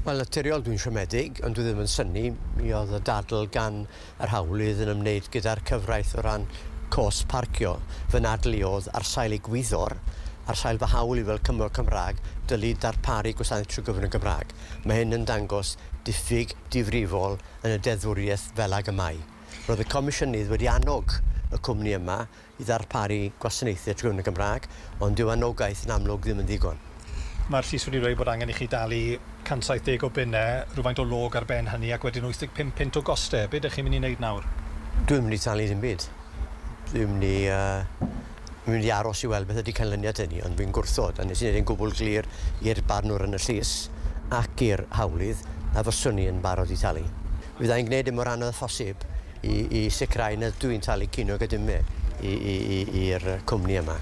Wel, naturiol dwi'n siomedig, ond dwi ddim yn synnu. Mi oedd y dadl gan yr hawlydd yn ymwneud gyda'r cyfraith o ran cost parcio. Fy nadl i oedd ar sail egwyddor, ar sail fy hawl i fel Cymro Cymraeg, dylid darparu gwasanaeth trwy gyfrwng y Gymraeg. Mae hyn yn dangos diffyg difrifol yn y deddfwriaeth fel ag y mae. Roedd y Comisiynydd wedi annog y cwmni yma i ddarparu gwasanaethau trwy gyfrwng y Gymraeg, ond dyw anogaeth yn amlwg ddim yn ddigon. Mae'r llys wedi dweud bod angen i chi dalu 170 o bunnau, rhywfaint o log ar ben hynny, ac wedyn 85 punt o gostau. Be ydych chi'n mynd i wneud nawr? Dwi'n mynd i talu ddim byd. Dwi'n mynd i aros i weld beth ydy canlyniad hynny, ond fi'n gwrthod, a nes i wneud yn gwbl glir i'r barnwr yn y llys ac i'r hawlydd na fyswn i yn barod i talu. Fydda i'n gwneud e mor anodd â phosib i sicrhau na dwi'n talu ceiniog a dim i'r cwmni yma.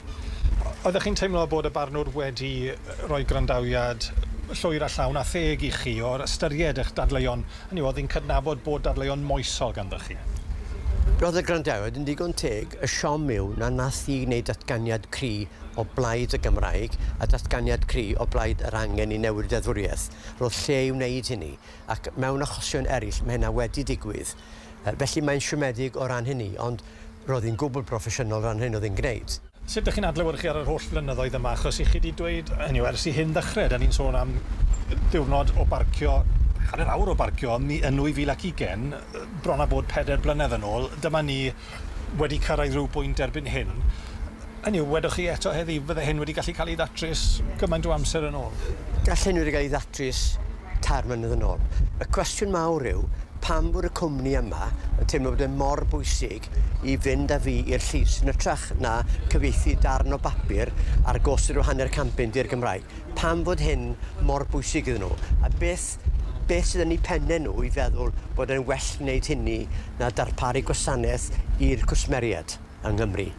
Oeddech chi'n teimlo bod y barnwr wedi rhoi gwrandawiad llwyr a llawn a theg i chi o'r ystyried eich dadleuon? Hynny yw, oedd hi'n cydnabod bod dadleuon moesol ganddo chi? Roedd y gwrandawiad yn ddigon teg. Y siom yw na nath hi wneud datganiad cry o blaid y Gymraeg a datganiad cry o blaid yr angen i newid deddfwriaeth. Roedd lle i wneud hynny, ac mewn achosion eraill mae hynna wedi digwydd. Felly mae'n siomedig o ran hynny, ond roedd hi'n gwbl broffesiynol o ran hyn oedd hi'n gwneud. Sut ydych chi'n adlewyrchu ar yr holl flynyddoedd yma? Achos i chi wedi dweud, hynny yw, ers i hyn ddechrau, da ni'n sôn am ddiwrnod o barcio, hanner awr o barcio yn 2020, bron a bod 4 blynedd yn ôl. Dyma ni wedi cyrraedd rhyw bwynt erbyn hyn. Hynny yw, wedwch chi eto heddi, fydde hyn wedi gallu cael ei ddatrys gymaint o amser yn ôl? Gall hyn wedi cael ei ddatrys 3 mlynedd yn ôl. Y cwestiwn mawr yw, pam bod y cwmni yma yn teimlo bod e mor bwysig i fynd â fi i'r llys yn hytrach na cyfieithu darn o bapur ar gost rhyw 0.5 punt i'r Gymraeg? Pam fod hyn mor bwysig iddyn nhw? A beth sydd yn eu pennau nhw i feddwl bod e'n well wneud hynny na darparu gwasanaeth i'r cwsmeriaid yng Nghymru?